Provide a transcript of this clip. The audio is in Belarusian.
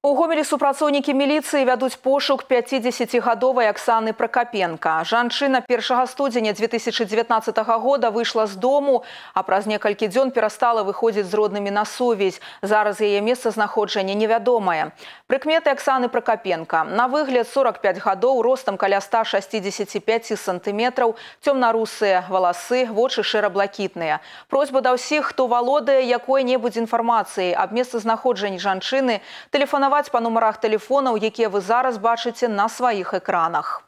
У Гомелі супрацоўнікі міліцыі вядуць пошук 50-гадовай Аксаны Пракапенка. Жанчына 1 студзеня 2019 года выйшла з дому, а праз некалькі дзён перастала выходзіць з роднымі на сувязь. Зараз яе месцазнаходжанне невядомае. Прыкметы Аксаны Пракапенка. На выгляд 45 гадоў, ростам каля 165 сантыметраў, цёмна-русыя валасы, вочы шэра-блакітныя. Просьба да ўсіх, хто валодае якой-небудзь інфармацыяй аб месцазнаходжанні жанчыны, тэлефанаваць па нумарах тэлефонаў, якія вы зараз бачыце на сваіх экранах.